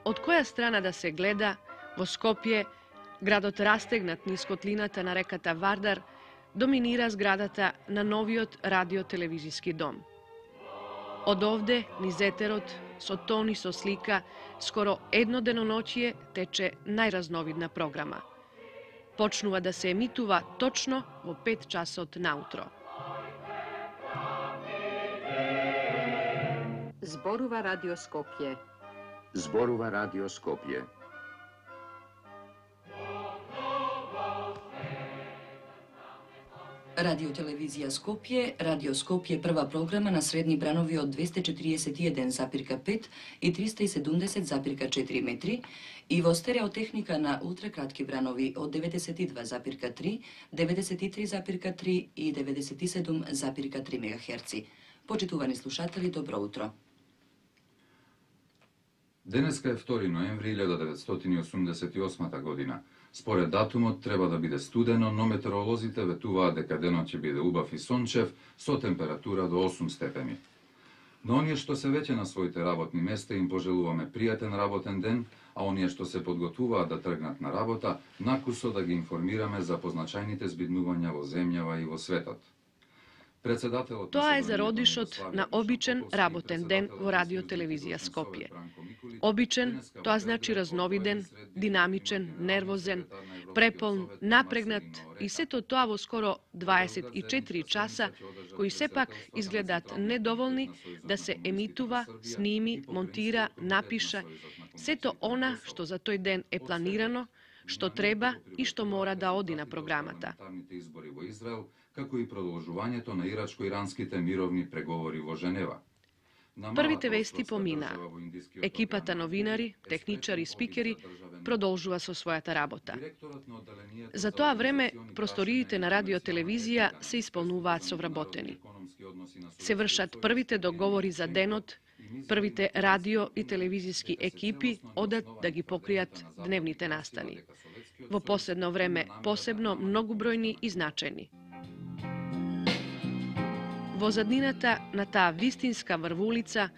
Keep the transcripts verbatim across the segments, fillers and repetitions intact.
од која страна да се гледа, во Скопје, градот растегнат низ котлината на реката Вардар, доминира зградата на новиот радио-телевизиски дом. Од овде, низ етерот, со тони со слика, скоро едно деноноќие тече најразновидна програма. Почнува да се емитува точно во пет часот наутро. Зборува Радио Скопје. Зборува Радио Скопје. Радио телевизија Скопје, Радио Скопје прва програма на средни бранови од двесте четириесет и еден запирка пет и триста и седумдесет запирка четири метри и во стереотехника на ултракратки бранови од деветдесет и два запирка три, деветдесет и три запирка три и деветдесет и седум запирка три мегахерци. Почитувани слушатели, добро утро. Денеска е втори ноември илјада деветстотини осумдесет и осма година. Според датумот треба да биде студено, но метеоролозите ветуваат дека денот ќе биде убав и сончев со температура до осум степени. Но оние што се веќе на своите работни места им пожелуваме пријатен работен ден, а оние што се подготвуваат да тргнат на работа, накусо да ги информираме за позначајните збиднувања во земјава и во светот. Тоа е зародишот на обичен работен ден во радио-телевизија Скопје. Обичен, тоа значи разновиден, динамичен, нервозен, преполн, напрегнат и сето тоа во скоро дваесет и четири часа, кои сепак изгледаат недоволни да се емитува, сними, монтира, напиша, сето она што за тој ден е планирано, што треба и што мора да оди на програмата. Како и продолжувањето на ирачко-иранските мировни преговори во Женева. Првите вести поминаа. Екипата новинари, техничари и спикери продолжува со својата работа. За тоа време просториите на радио-телевизија се исполнуваат со вработени. Се вршат првите договори за денот, првите радио и телевизиски екипи одат да ги покријат дневните настани. Во последно време посебно многубројни и значајни. Во заднината на таа вистинска врвулица,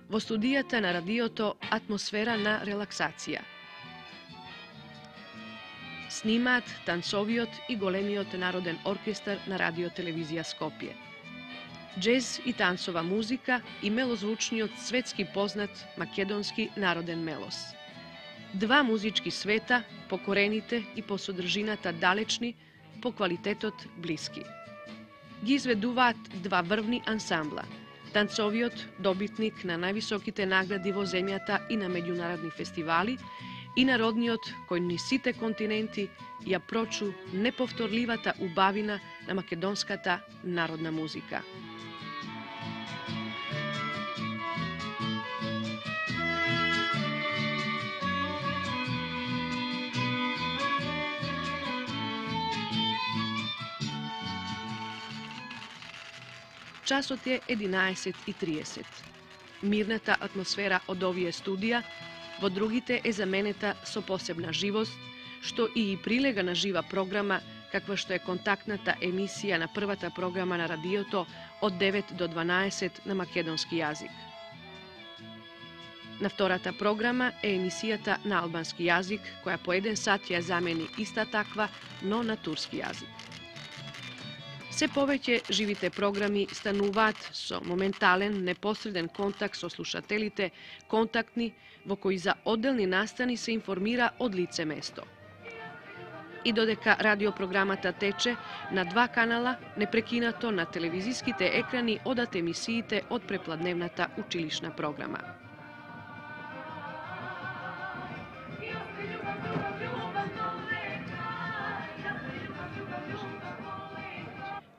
во студијата на радиото, атмосфера на релаксација. Снимаат танцовиот и големиот народен оркестар на радио-телевизија Скопје. Джез и танцова музика и мелозвучниот светски познат македонски народен мелос. Два музички света, по корените и по содржината далечни, по квалитетот блиски. Ги изведуваат два врвни ансамбла. Танцовиот, добитник на највисоките награди во земјата и на меѓународни фестивали, и народниот, кој низ сите континенти ја прочу неповторливата убавина на македонската народна музика. Часот е единаесет и триесет. Мирната атмосфера од овие студија во другите е заменета со посебна живост, што и прилега на жива програма, каква што е контактната емисија на првата програма на радиото од девет до дванаесет на македонски јазик. На втората програма е емисијата на албански јазик, која по еден сат ја замени иста таква, но на турски јазик. Се повеќе живите програми стануваат со моментален, непосреден контакт со слушателите, контактни, во кои за одделни настани се информира од лице место. И додека радиопрограмата тече на два канала, непрекинато на телевизиските екрани одат емисиите од препладневната училишна програма.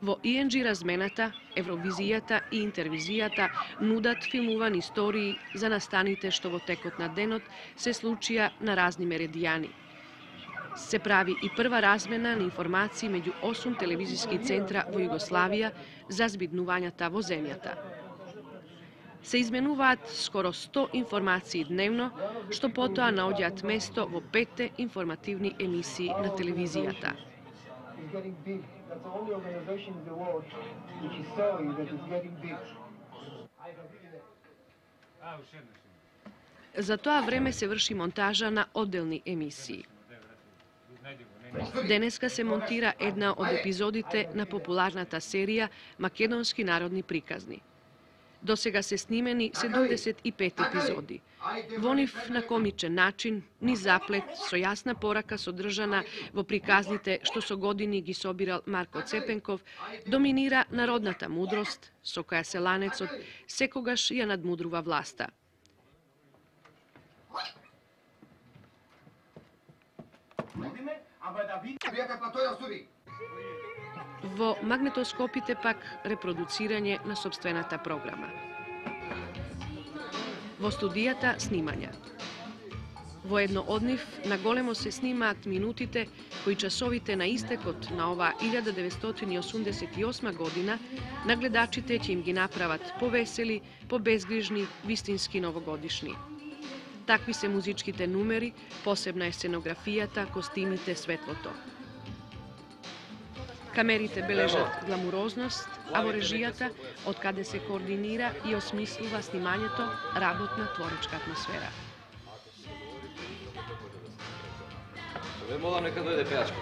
Во И Ен Джи размената, Евровизијата и Интервизијата нудат филмувани истории за настаните што во текот на денот се случија на разни меридијани. Се прави и прва размена на информации меѓу осум телевизиски центра во Југославија за збиднувањата во земјата. Се изменуваат скоро сто информации дневно, што потоа наоѓаат место во петте информативни емисии на телевизијата. That's the only organization in the world which is sorry that is getting big. За тоа време се врши монтажа на одделни емисии. Денеска се монтира една од епизодите на популарната серија Македонски народни приказни. До сега се снимени седумдесет и пет епизоди. Во нив на комичен начин, ни заплет, со јасна порака содржана во приказните што со години ги собирал Марко Цепенков, доминира народната мудрост, со која селанецот секогаш ја надмудрува власта. Во магнетоскопите пак репродуцирање на сопствената програма. Во студијата снимања. Во едно од нив наголемо се снимаат минутите кои часовите на истекот на оваа илјада деветстотини и осумдесет и осма година на гледачите ќе им ги направат повесели, побезгрижни, вистински новогодишни. Такви се музичките numeri, посебна е сценографијата, костимите, светлото. Камерите бележат гламурозност, а во режијата, од каде се координира и осмислува снимањето, работна творечка атмосфера. Ве молам нека дојде пејачка.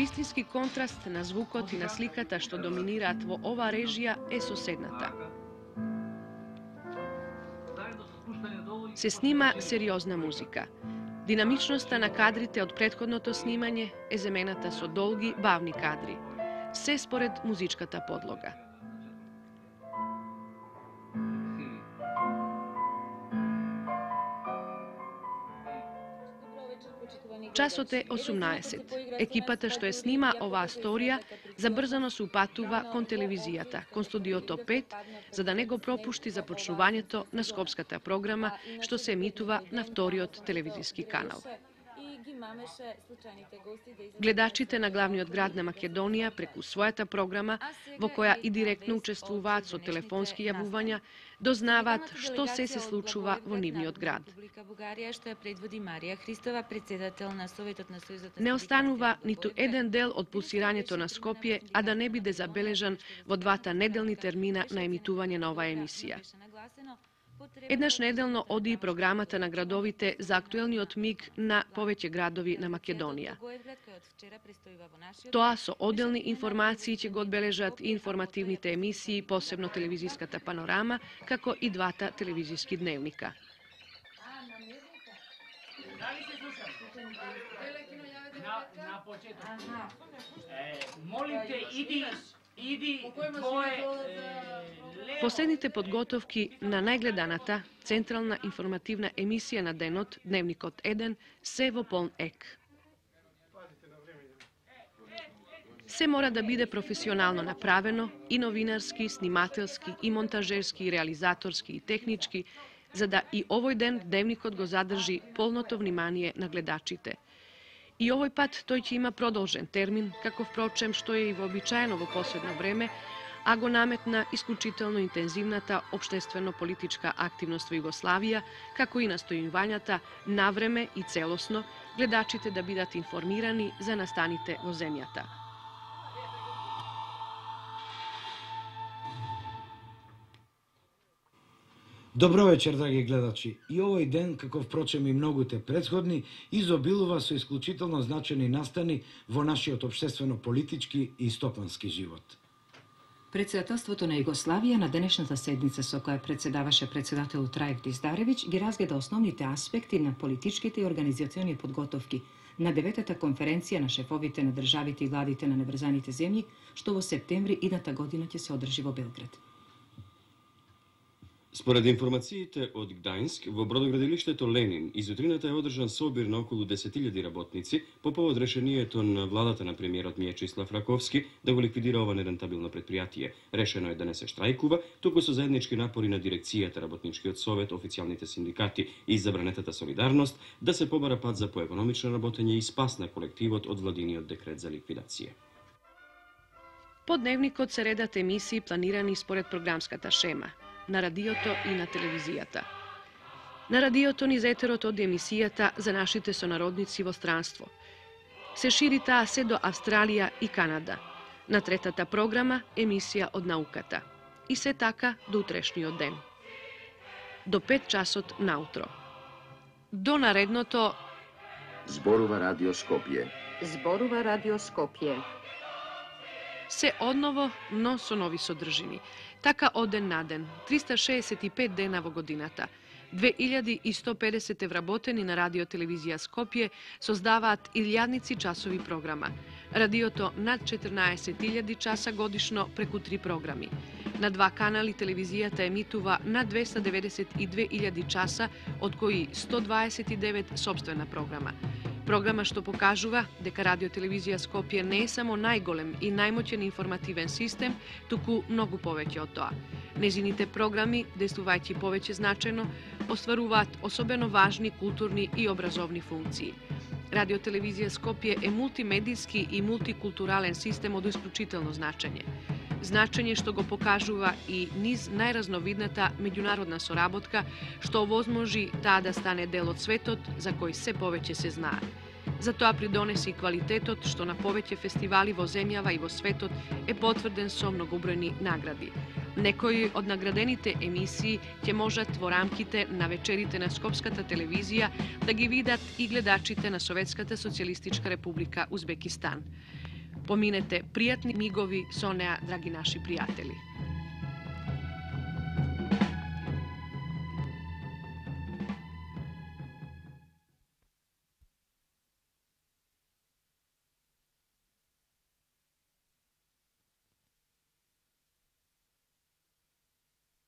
Вистински контраст на звукот и на сликата што доминираат во оваа режија е соседната. Се снима сериозна музика. Динамичноста на кадрите од претходното снимање е замената со долги, бавни кадри. Се според музичката подлога. Часот е осумнаесет. Екипата што е снима оваа сторија забрзано се упатува кон телевизијата, кон студиото пет, за да не го пропушти започнувањето на скопската програма што се емитува на вториот телевизиски канал. Гледачите на главниот град на Македонија преку својата програма, во која и директно учествуваат со телефонски јавувања, дознаваат што се се случува во нивниот град. Не останува ниту еден дел од пулсирањето на Скопје, а да не биде забележан во двата неделни термина на емитување на оваа емисија. Еднаш неделно оди и програмата на градовите за актуелниот миг на повеќе градови на Македонија. Тоа со одделни информации ќе го одбележат и информативните емисии, посебно телевизиската панорама, како и двата телевизиски дневника. На почеток. Молим те, иди Иди, твое... Последните подготовки на најгледаната централна информативна емисија на денот, Дневникот еден, се во полн ек. Се мора да биде професионално направено, и новинарски, снимателски, и монтажерски, и реализаторски, и технички, за да и овој ден Дневникот го задржи полното внимание на гледачите. И овој пат тој ќе има продолжен термин, како впрочем што е и вообичаено во последно време, а го наметна исклучително интензивната општествено-политичка активност во Југославија, како и настојувањата навреме и целосно гледачите да бидат информирани за настаните во земјата. Добро вечер, драги гледачи. И овој ден, како впрочем и многуте претходни, изобилува со исклучително значени настани во нашиот општествено-политички и стопански живот. Председателството на Југославија на денешната седница со која председаваше председателот Раев Диздаревиќ ги разгледа основните аспекти на политичките и организациони подготовки на деветата конференција на шефовите на државите и владите на неврзаните земји, што во септември идната година ќе се одржи во Белград. Според информациите од Гдајнск, во бродоградилиштето Ленин изутрината е одржан собир на околу десет илјади работници по повод решението на владата на премиерот Мијечислав Раковски да го ликвидира ова нерентабилно предпријатие. Решено е да не се штрајкува, туку со заеднички напори на дирекцијата, работничкиот совет, официјалните синдикати и забранетата солидарност да се побара пат за поекономично работење и спас на колективот од владиниот декрет за ликвидација. По дневникот се редат емисии планирани според програмската шема на радиото и на телевизијата. На радиото низ етерот од емисијата за нашите сонародници во странство. Се шири таа се до Австралија и Канада. На третата програма емисија од науката. И се така до утрешниот ден. До пет часот наутро. До наредното Зборува Радио Скопје. Зборува Радио Скопје. Се одново, но со нови содржини. Така од ден на ден, триста шеесет и пет дена во годината, две илјади и сто педесет вработени на Радио Телевизија Скопје создаваат илјадници часови програма. Радиото над четрнаесет илјади часа годишно преку три програми. На два канали телевизијата емитува над двеста деветдесет и две илјади часа, од кои сто дваесет и девет собствена програма. Програма што покажува дека Радио Телевизија Скопје не е само најголем и најмоќен информативен систем, туку многу повеќе од тоа. Незините програми, действувајќи повеќе значајно, остваруваат особено важни културни и образовни функции. Радио Телевизија Скопје е мултимедијски и мултикултурален систем од исклучително значење. Значење што го покажува и низ најразновидната меѓународна соработка, што овозможи таа да стане дел од светот за кој се повеќе се знае. За тоа придонесе и квалитетот што на повеќе фестивали во земјава и во светот е потврден со многобројни награди. Некои од наградените емисии ќе можат во рамките на вечерите на Скопската телевизија да ги видат и гледачите на Советската социјалистичка република Узбекистан. Поминете пријатни мигови со неа, драги наши пријатели.